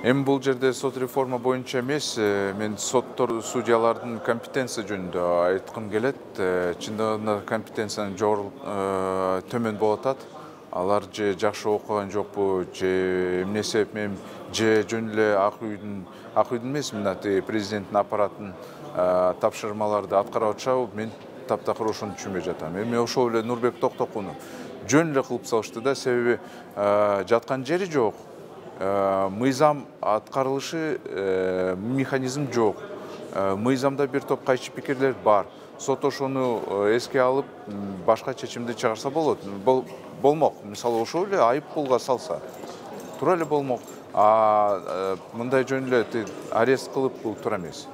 Эми бул жерде сот реформа боюнча эмес, мен соттор, судьялардын компетенция жөнүндө айткым келет. Чындыгында компетенциянын төмөн болуп атат. Алар же жакшы окуган жокпу, же эмне себеп менен, же жөн эле ак үйдүн эмес, мына президенттин аппараттын тапшырмаларды аткарып атышабы, мен таптакыр ошону түшүнбөй жатам. Эми ошол эле Нурбек Токтокууну жөн эле кылып салышты да, себеби жаткан жери жок. Мыйзам аткарылышы механизм жок. Мыйзамда бир топ кайчы пикирлер бар. Сот ошону эске алып, башка чечимди чыгарса болот. Болмок. Мисалы, ошол эле айып пулга салса, туура эле болмок. Мындай жөн эле арест кылып бул туура эмес.